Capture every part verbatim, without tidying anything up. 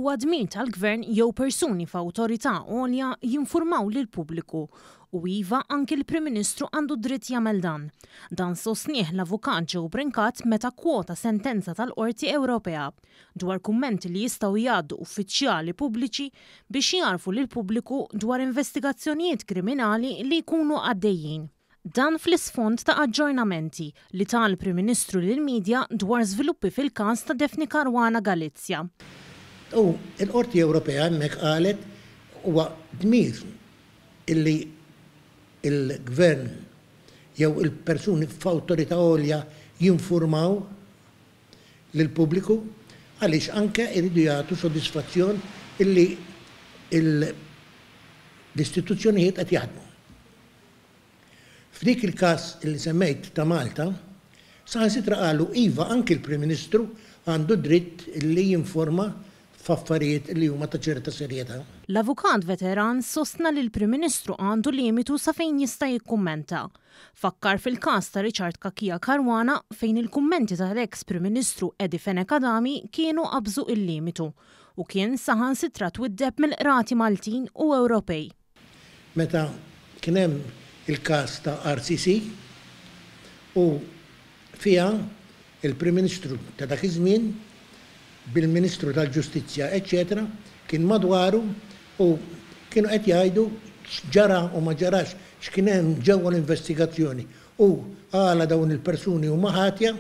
Huwa dmir tal-gvern jew persuni f'awtorità għolja jinfurmaw lill-pubbliku u iva, anki l-Prim Ministru għandu dritt jagħmel dan. Dan sostnieh l-Avukat Joe Brincat meta kwota sentenza tal-Qorti Ewropea dwar kummenti li jistgħu jgħaddu uffiċjali pubbliċi biex jgħarrfu lill-pubbliku dwar investigazzjonijiet kriminali li jkunu għaddejjin. Dan fl-isfond ta' aġġornamenti li ta l-Prim Ministru lill-medja dwar żviluppi fil-każ ta' Daphne Caruana Galizia. U l-Qorti Ewropea hemmhekk qalet huwa dmir illi il-gvern jew il-persuni f'awtorità għolja jinfurmaw lill-pubbliku, għaliex anke jridu jagħtu sodisfazzjon illi l-istituzzjonijiet qed jaħdmu. F'dik il-każ li semmejt ta' Malta, saħansitra qalu iva, anki l-Prim Ministru għandu dritt li jinforma f'affarijiet li huma ta' ċerta serjetà. L-avukat veteran sostna li l-Prim Ministru għandu limitu sa fejn jista' jikkummenta. Fakkar fil-każ ta' Richard Cachia Caruana, fejn il-kummenti tal-ex Prim Ministru Eddie Fenech Adami kienu qabżu il-limitu u kien saħansitra twiddeb mill-qrati Maltin u Ewropej. Meta kien hemm il-każ ta' R C C u fiha il-Prim Ministru ta' dak iż-żmien bil-Ministru tal-Ġustizzja, eċċetera, kien madwaru u kienu qed jgħidu x'ġara u ma ġarax, x'kien hemm ġewwa l-investigazzjoni u għala dawn il-persuni huma ħatja,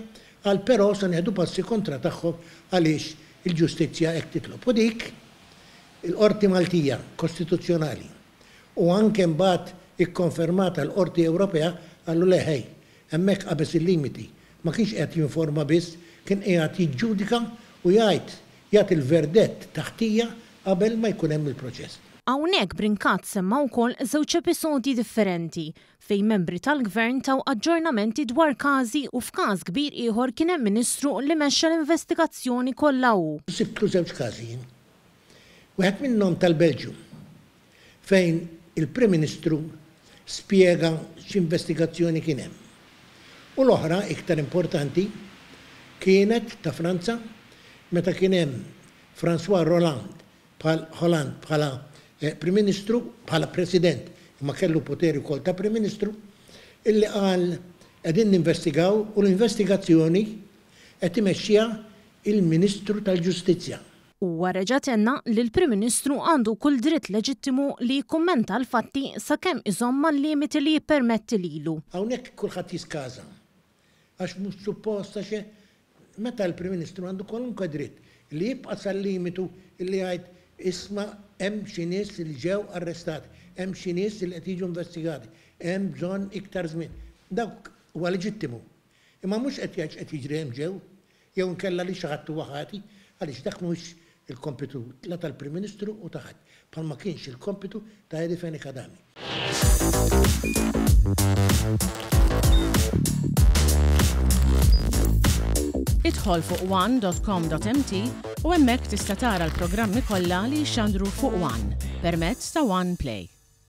għal però se nieħdu passi kontra tagħhom għaliex il-ġustizzja hekk titlob. U dik il-Qorti Maltija Kostituzzjonali u anke mbagħad ikkonfermata l-Qorti Ewropea qalu le ħej, hemmhekk qabeż il-limiti. Ma kienx qed jinforma biss, kien qiegħed jiġġudika u jgħid jagħti il-verdett ta' ħtija qabel ma jkun hemm il-proċess. Hawnhekk Brincat semma wkoll żewġ episodji differenti fejn membri tal-gvern taw aġġornamenti dwar każi u f'każ kbir ieħor kien hemm ministru li mexxa l-investigazzjoni kollha hu. Sibtlu żewġ każi. Wieħed minnhom tal-Belġju, fejn il-Prim Ministru spjega x'investigazzjoni kien hemm. U l-oħra, iktar importanti, kienet ta' Franza, meta kien hemm François Hollande bħal Hollande bħala eh, Prim Ministru, bħala President, imma kellu poteri wkoll ta' Prim Ministru, illi qal qegħdin ninvestigaw u l-investigazzjoni qed imexxiha il-Ministru tal-Ġustizzja. Huwa reġa' tenna li l-Prim Ministru għandu kull dritt leġittimu li jikkummenta l-fatti sakemm iżomm mal-limiti li jippermetti lilu. Hawnhekk kulħadd jiskaża. Għax mhux supposta xe meta l-Prim Ministru għandu kwalunkwe dritt li jibqa' sal-limitu li jgħid, isma', hemm xi nies li ġew arrestati, hemm xi nies li qed jiġu investigati, hemm bżonn iktar żmien. Dak huwa leġittimu. Imma mhux qed jgħid qed jiġri hemm ġew, jew nkella li xi ħadd huwa ħati, għaliex dak mhux il-kompitu la tal-Prim Ministru u ta' ħadd, bħalma kienx il-kompitu ta' Eddie Fenech Adami. Idħol fuq one dot com dot M T u hemmhekk tista' tara l-programmi kollha li jxandru fuq One permezz ta' One Play.